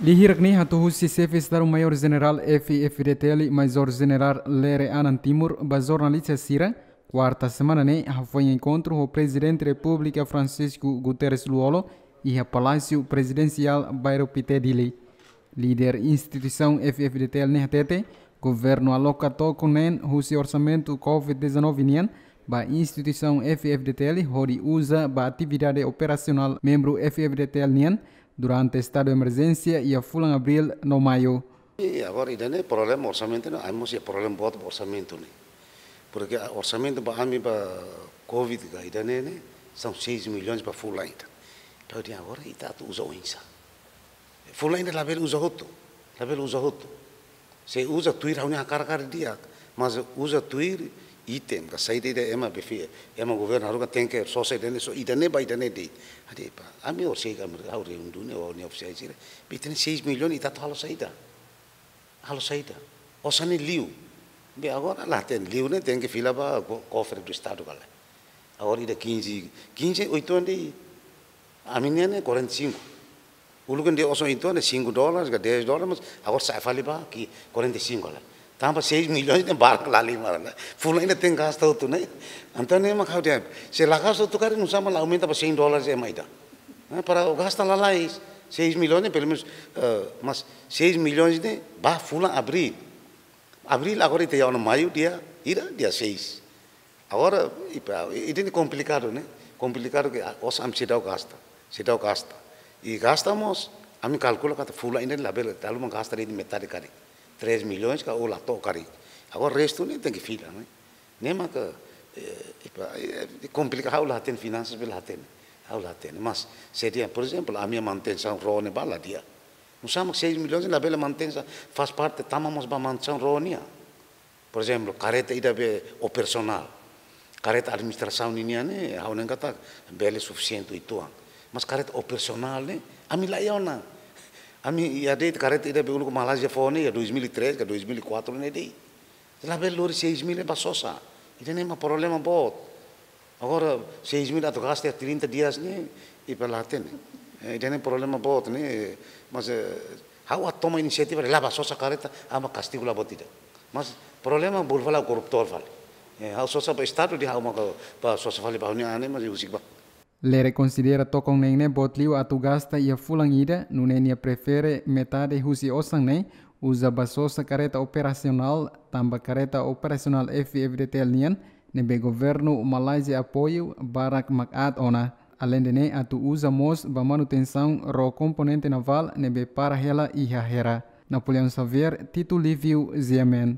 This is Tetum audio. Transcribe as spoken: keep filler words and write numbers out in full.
Liu hirak ne'e hato'o husi Xefe Estadu Maiór Jenerál F-FDTL, Majór Jenerál Lere Anan Timur, ba jornalista sira, kuarta semana ne'e hafoin enkontru ho Prezidente Repúblika Francisco Guterres Lú-Olo iha Palásiu Prezidensiál Bairro Pité, Dili. Líder instituisaun F-FDTL ne'e hatete, governu aloka tokon neen husi orsamentu COVID dezanove nian ba instituisaun F-FDTL hodi uza ba atividade operasionál membru F-FDTL nian durante estadu emerjénsia iha fulan Abríl no Maiu. E agora, ida-ne'e problema orsamentu ne'e, ami mós iha problema boot ba orsamentu ne'e. Porque a orsamentu ba ami ba COVID ka ida-ne'e ne'e, são seis milhões ba fulan ida. Entaun, agora ita atu uza oinsá? Fulan ida labele uza hotu, labele uza hotu. Se uza tuir ha'u-nia hakarak di'ak, mas uza tuir item ka saida ida ema be fó, ema governu haruka tenke sosa ida-ne'e, sosa ida-ne'e ba ida-ne'e de'it. Hadi pa, ami orsida ami ha'u reunidu ne'e ho nia ofisiál sira. Be ita-nia seis milhões ita atu halo saida? Halo saida? Osan ne'e liu. Be agora la hatene, liu ne'e tenke fila ba ko-, kofre do estadu ka lae. Agora ida quinze, quinze, oituan de'it. Ami-nian ne'e quarenta e cinco. Uluk ne'e osan oituan ne'e cinco dólares ka dez dólares, mas agora sa'e fali ba ki quarenta e cinco ka lae. Tanba seis milhões ne'e barak la halimar ne'e. Fulan ida tenke gasta hotu ne'e. Entaun ne'e mak ha'u dehan, se la gasta hotu karik nusá mak la aumenta ba cem dólares ema ida? Eh, para gasta lalais, seis milhões ne'e pelumenus, eh, mas seis milhões ne'e ba fulan Abríl. Abríl agora ita iha ona Maiu dia, ida, dia seis. Agora, ipa, ida-ne'e komplikadu ne'e, komplikadu ke, ah, osan ami seidauk gasta, seidauk gasta. I gasta mós, ami kalkula katak fulan ida labele, dala ruma gasta de'it metade karik. Três milhões ka ou la to'o karik. Agora restu ne'e tenke fila ne'e. Ne'e maka, eh, ipa, eh, komplikadu, ha'u la hatene finansas, be la hatene. Ha'u la hatene. Mas, se dehan, por ezemplu, ami-nia manutensaun ró ne'e ba la di'ak. Nusá mak seis milhões labele mantensa, faz parte tama mós ba manutensaun ró nian. Por ezemplu, karreta ida be operasionál. Karreta administrasaun ninian ne'e, ha'u hanoin katak bele sufisiente uitoan. Mas karreta operasionál ne'e, ami la iha ona. Ami iha de'it karreta ida be uluk Malázia fó ne'e, iha dois mil e três ka dois mil e quatro ne'e de'it. Labele lori seis mil ba sosa. Ida-ne'e mak problema boot. Agora, seis mil atu gasta trinta dias ne'e, ipa la hatene. Eh, ida-ne'e problema boot ne'e, mas, eh, ha'u atu toma inisiativa, la'o ba sosa karreta, ami kastigu la buat ida. Mas problema bolu fali korruptór fali. Eh, ha'u sosa ba estadu dehan ha'u maka ba sosa fali ba ha'u-nia an ne'e, mas husik ba. Lere konsidera tokon neen ne'e boot liu atu gasta iha fulan ida, nune'e nia prefere metade husi osan ne'e uza ba sosa karreta operasionál, tanba karreta operasionál F-FDTL nian, ne'ebé governu Malázia apoiu barak mak aat ona. Aleinde ne'e atu uza mós ba manutensaun ró komponente navál ne'ebé para hela iha Hera. Napoleão Xavier, Tito Livio, G M N.